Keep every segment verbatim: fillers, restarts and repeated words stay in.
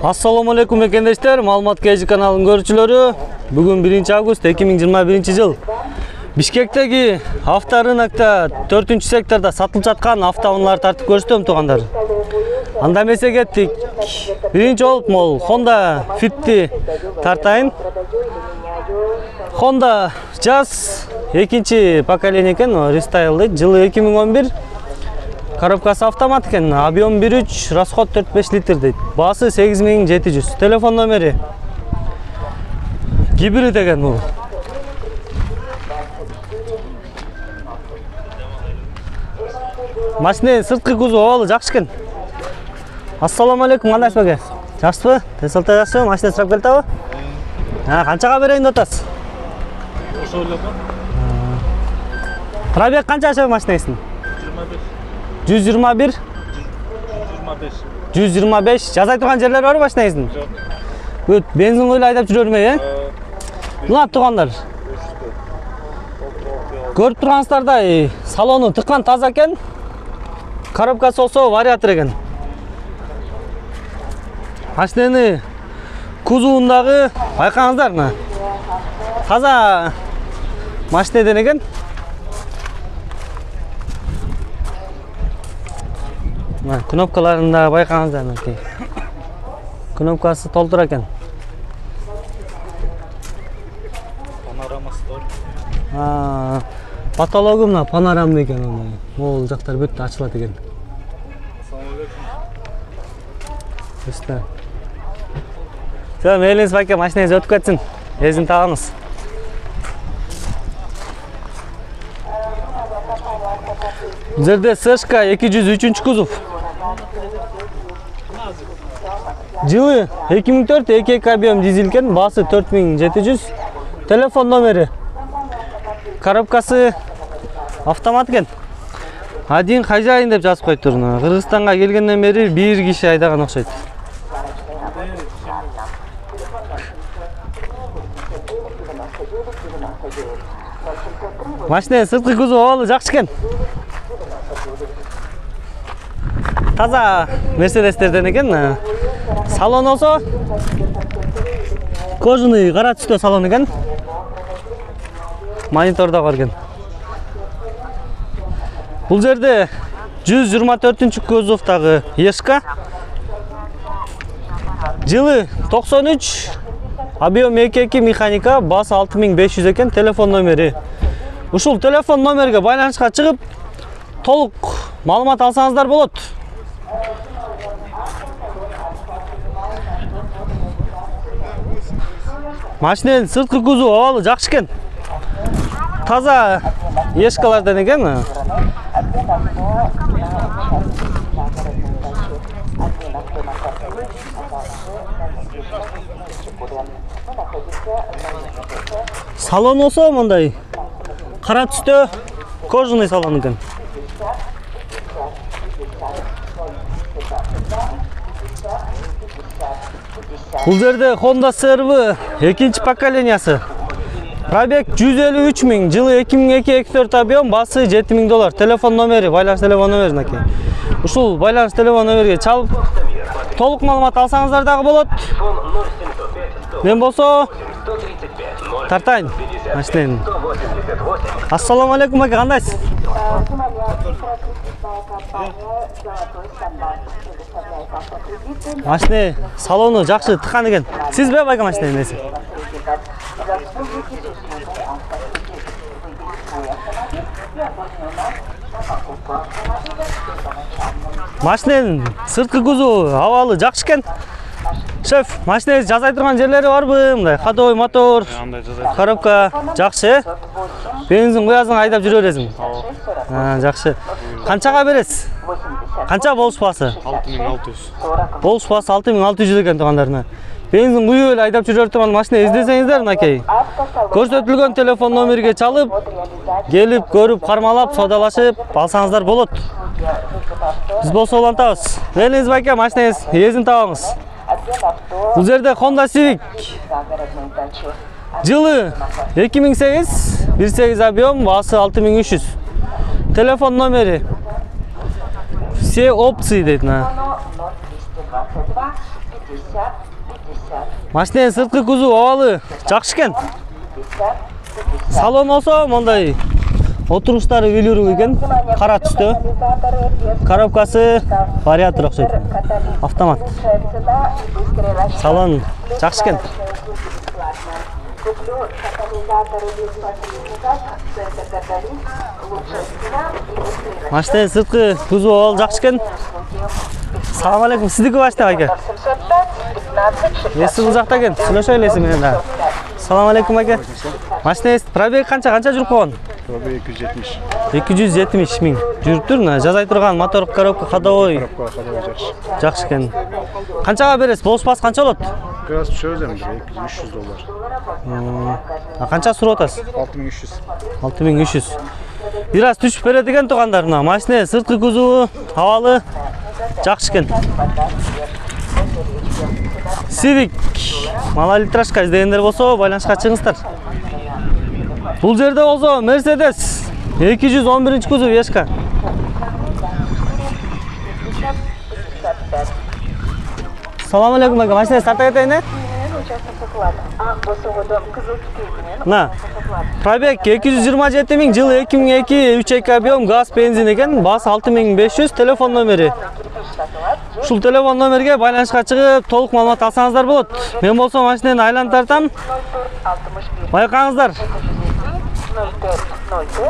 Assalomu alaykum ekendештер, Маалымат кей каналынын көрүүчүлөрү. Бүгүн биринчи август эки миң жыйырма биринчи жыл. Бишкектеги авторынокто төртүнчү сектордо сатылып жаткан автоунааларды тартып көрсөтөм туугандар. Анда эмесе кеттик. Биринчи болуп мол Honda Fit'ти тартайын. Honda Jazz экинчи поколение экен, рестайл дейт. Жылы эки миң он бир. Коробкасы автомат экен, объем бир үч, расход төрт беш литр дейт. Баасы сегиз миң жети жүз. Телефон номери. Гибрид экен бул. Машинанын сырткы кузову абалы жакшы экен. Ассаламу алейкум, кандайсыз беке? Жакшысызбы? Тенсилте жакшыбы? Машина сурап келдиби? А, канчага берейин деп атасыз? Ошо эле го. Пробег канча жашаган машинаңыздын? жүз жыйырма бир. жүз жыйырма беш. Жазай турган жерлер барбы машинаңыздын? Жок. Бүт бензин койлой айдап жүрөрмө, э? Мына туугандар. Көрүп тургансыздардай, салону тыккан таза экен. Коробкасы болсо вариатор экен. Машинаны кузовундагы байкаңыздар мына. Таза машинеден экен. Мына кнопкаларында байкаңыздар мынакей. Кнопкасы толтур экен. Панорамасы бар. А, потологу мына панорамный экен ондай. Могул жактар бүт ачылат экен. Ассаламу алейкум. Үстө. Сен мейлиңиз байке машинаңыз өтүп кетсин. Эзин табыңыз. Бул жерде Сэшка эки жүз үчүнчү кузов. Жылы эки миң төрт, эки эки объем дизель экен, баасы төрт миң жети жүз. Телефон номери. Коробкасы автомат экен. Один хозяин деп жазып коюптур. Кыргызстанга келгенден бери бир киши айдаган окшойт. Машинанын сырткы кузову абалы жакшы экен. Таза Мерседестерден экен. Салон болсо кожаный кара түстө салон экен. Монитор да бар экен. Бул жерде жүз жыйырма төртүнчү кузовдагы Ешка. Жылы токсон үч, объем эки эки механика, баасы алты миң беш жүз экен. Телефон номери. Ушул телефон номерге байланышка чыгып, толук маалымат алсаңыздар болот. Машинанын сырткы кузову абалы жакшы экен. Таза Ешкалардан экен. Салон болсо мындай кара түстө кожаный салон экен. Бул жерде Honda си эр ви экинчи поколениясы. Пробег жүз элүү үч миң, жылы эки миң эки эки төрт объем, баасы жети миң доллар. Телефон номери, байланыш телефон номери мынакей. Ушул байланыш телефон номерге чалып, толук маалымат алсаңыздар дагы болот. Мен болсо тартайын машинаны. Ассаламу алейкум ака, кандайсыз? Машина салону жакшы тыккан экен. Сизби байка машинанын эси? Машинанын сырткы кузову абалы жакшы экен. Шеф, машинаңыз жазай турган жерлери барбы? Мындай ходовой мотор, коробка жакшы, э? Бензин куясың, айдап жүрө бересиң. А, жакшы. Канчага бересиз? Канча болуш баасы? алты миң алты жүз. Болуш баасы алты миң алты жүз экен туугандарына. Бензин куюп эле айдап жүрө турган машина издесеңиздер мынакей. Көрсөтүлгөн телефон номерге чалып, келип, көрүп, кармалап, саудалашып алсаңыздар болот. Биз болсо улантабыз. Мейлиңиз байке, машинаңыз эзин табыңыз. Бул жерде Honda Civic. Жылы эки миң сегиз, бир сегиз объем, баасы алты миң үч жүз. Телефон номери. Все опции дейт на. Машиненин сырткы кузову абалы жакшы экен. Салон болсо мондай отуруштары үйлүрүү экен, кара түстө. Коробкасы вариатор окшойт. Автомат. Салон жакшы экен. Машиненин сырткы кузову абалы жакшы экен. Салам алейкум, сиздики башта аке. Эси бул жакта экен, сүйлөшө элесиң менен да. Салам алейкум аке. Машинеңиз пробег канча, канча жүрүп койгон? Пробег эки жүз жетимиш. эки жүз жетимиш миң жүрүптүр. Жазай турган мотор, коробка, ходовой. Коробка ходовой жакшы. Жакшы экен. Канчага бересиз? Болушпас канча болот? Biraz düşürüz эми эки жүз үч жүз доллар. А канча сурап атасыз? алты миң үч жүз. алты миң үч жүз. Бир аз түшүп берет экен туугандар. Мына машиненин сырткы кузову абалы жакшы экен. Civic малолитражка издегендер болсо байланышка чыгыңыздар. Бул жерде болсо Mercedes эки жүз он биринчи кузов Ешка. Салам алейкум ака, машина старта кетейин, э? На. Пробег эки жүз жыйырма жети миң, жылы эки миң эки, үч эки объем, газ, бензин экен, басы алты миң беш жүз, телефон номери. Ушул телефон номерге байланышка чыгып, толук маалымат алсаңыздар болот. Мен болсо машинени айланып тартам. Байкаңыздар.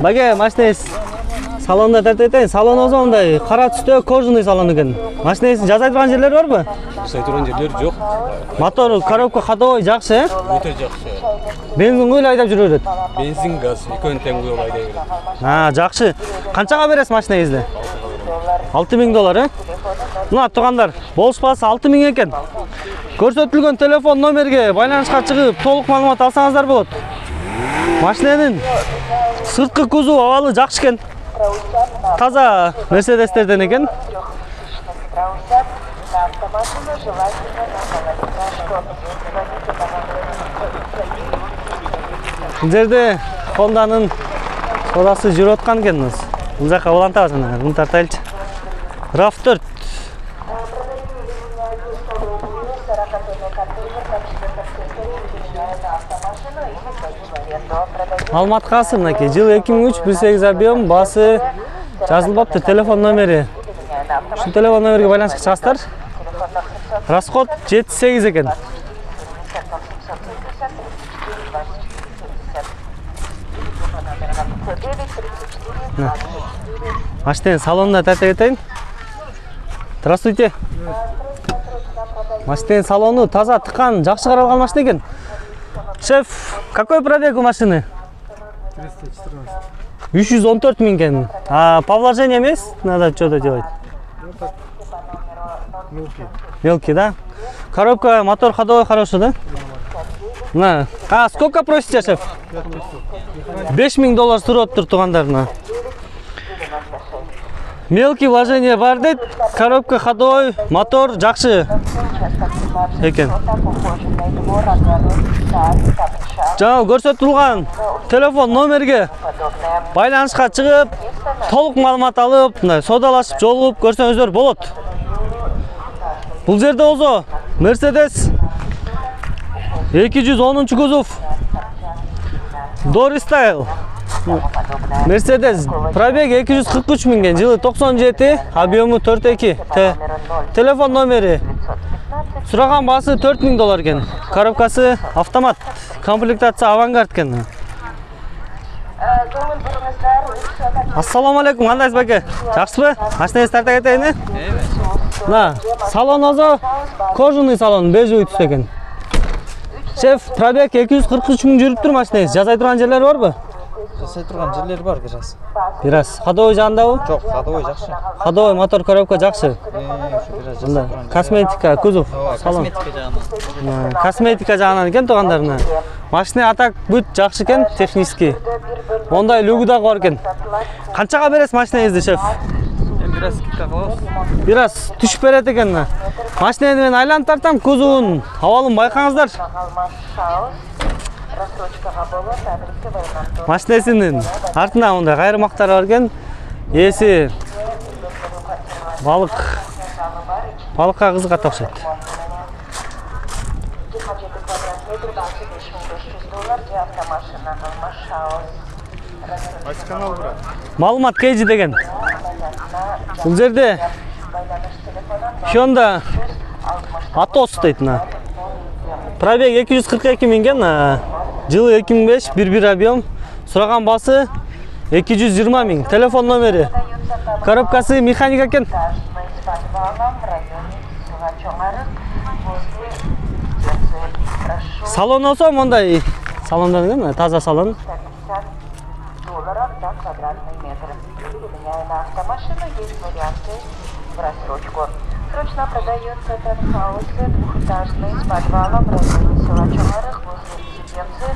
Баге, машинеңиз салонда тартып кетейин. Салон болсо мындай кара түстө кожаный салон экен. Машинеңиздин жазай турган жерлери барбы? Жасай турган жерлер жок. Мотор, коробка, ходовой жакшы, э? Өтө жакшы. Бензин куйла айдап жүрө берет. Бензин, газ экөөнү тең куюп айдай берет. А, жакшы. Канчага бересиз машинеңизди? алты миң доллар, э? Мына туугандар, болушпасы алты миң экен. Көрсөтүлгөн телефон номерге байланышка чыгып, толук маалымат алсаңыздар болот. Машиненин сырткы кузову абалы жакшы экен. Таза Mercedesтерден экен. Бул жерде Honda'нын содасы жүрүп аткан экен. Бул жака улантабыз мына, муну тартайлычы. рав төрт. Маалымат калсын мынакей. Жылы эки миң үч, бир сегиз объем, басы жазылбаптыр, телефон номери. Ушул телефон номерге байланышка чыгасыздар. Расход жети сегиз экен. Машиненин салонуна тартып кетейин. Здравствуйте. Машиненин салону таза, тыкан, жакшы каралган машина экен. Шеф, какой пробег у машины? триста четырнадцать. үч жүз он төрт миң экен. А по вложениям есть? Надо что-то делать. Мелкий. Мелкий, да? Коробка, мотор ходовой хороший, да? На. А сколько просите, шеф? беш миң доллар сураттыр туугандарына. Мелкий вложение бар дейт. Коробка ходовой, мотор жакшы экен. Жана көрсөтүлгөн телефон номерге байланышка чыгып, толук маалымат алып, мындай содалашып, жолугуп көрсөңүздөр болот. Бул жерде болсо Mercedes эки жүз онунчу кузов Dory Style. Mercedes пробег эки жүз кырк үч миң, жылы токсон жети, объему төрт эки. Телефон номери. Сураган басы төрт миң доллар экен. Коробкасы автомат. Комплектация авангард экен. Ассаламу алейкум, кандайсыз баке? Жакшысызбы? Машинеңизди тарта кетейин, э? На, салон болсо кожаный салон, бежевый түстө экен. Шеф, пробег эки жүз кырк үч миң жүрүптүр машинеңиз. Жазай турган жерлери барбы? Жасай турган жерлери бар бир аз. Бир аз. Ходовой жагындабы? Жок, ходовой жакшы. Ходовой, мотор, коробка жакшы. Мында Косметика, кузов, салон. Косметика жагынан. Косметика жагынан экен туугандарына. Машина атак бүт жакшы экен, технически. Ондай люгу да бар экен. Канчага бересиз машинеңизди, шеф? Бир аз скидка кылабыз. Бир аз түшүп берет экен. Машинени мен айланып тартам, кузовун, абалын байкаңыздар. Машинесинин артына мындай кайрымактар бар экен. Эси балык балыкка кызыгат окшойт. Кайсы канал брат? Маалымат Кейджи деген. Бул жерде Hyundai Atos дейт мына. Пробег эки жүз кырк эки миң экен. Жылы эки миң беш, бир бир объем. Сураган басы эки жүз жыйырма миң. Телефон номери. Коробкасы механика экен. Салон болсо мондай салондан экен, таза салон. Долларов за квадратный метр. Меняя на автомашину, есть варианты в рассрочку. Срочно продается таунхаус двухэтажный с подвалом в районе села Чоңарых возле резиденции.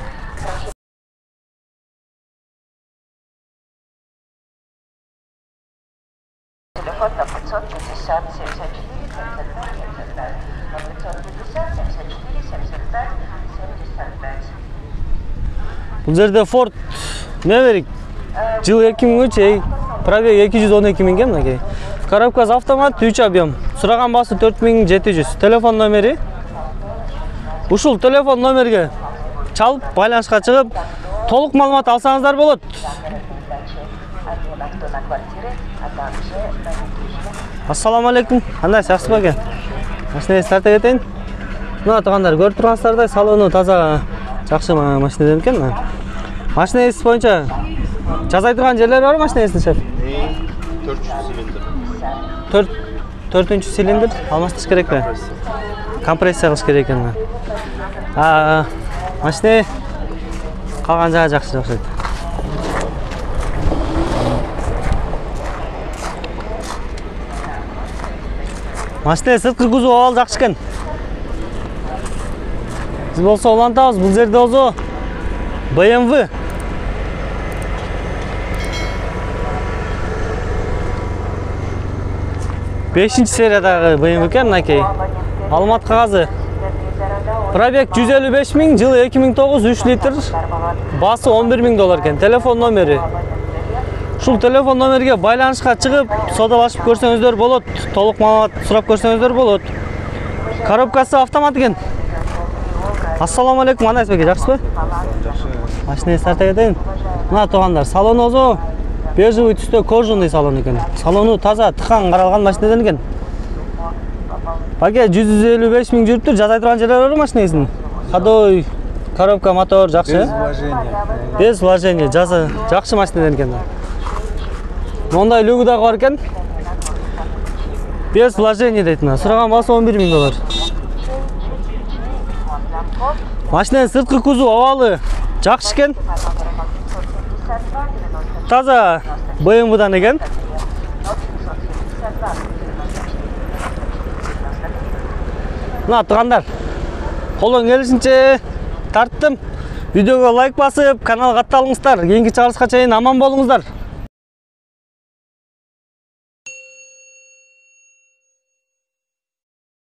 Телефон на пятьсот пятьдесят семьдесят четыре семьдесят пять семьдесят пять. На пятьсот пятьдесят семьдесят четыре семьдесят пять семьдесят пять. Бул жерде Ford Maverick жылы эки миң үч, пробег эки жүз он эки миң экен мынакей. Коробкасы автомат, үч объем. Сураган басы төрт миң жети жүз. Телефон номери. Ушул телефон номерге чалып, байланышка чыгып, толук маалымат алсаңыздар болот. Ассаламу алейкум. Кандай жакшы бекен? Машина старт этейин. Мына туугандар, көрүп тургансыздардай, салону таза жакшы машина экен. Машина эси боюнча жасай турган жерлери бар машина эсинин шеф? төрт жүз цилиндр. төрт төртүнчү цилиндр алмаштырыш керекпи? Компрессия кылыш керек экен. А машина калган жагы жакшы окшойт. Машина сырткы кузов абал жакшы экен. Биз болсо улантабыз, бул жерде болсо бэ эм вэ бешинчи сериядагы бэ эм вэ экен мынакей. Маалымат кагазы. Пробег жүз элүү беш миң, жылы эки миң тогуз, үч литр, басы он бир миң доллар экен. Телефон номери. Ушул телефон номерге байланышка чыгып, содалашып көрсөңүздөр болот. Толук маалымат сурап көрсөңүздөр болот. Коробкасы автомат экен. Ассаламу алейкум, кандай беке, жакшысызбы? Машина старт этейин. Мына туугандар, салон болсо бежевый түстө кожаный салон экен. Салону таза, тыкан каралган машинадан экен. Баке жүз элүү беш миң жүрүптүр, жасай турган жерлери бар машинесин. Ходой, коробка, мотор жакшы. Без вложения. Без вложения, жаза жакшы машинадан экен. Мондай люгу дагы бар экен. Без вложения дейт мына. Сураган басы он бир миң доллар. Машинанын сырткы кузов абалы жакшы экен. Таза бэ эм вэ-дан экен. Мына туугандар, колдон келишинче тарттым. Видеого лайк басып, каналга катталыңыздар. Кийинки чыгарылышка чейин аман болуңуздар.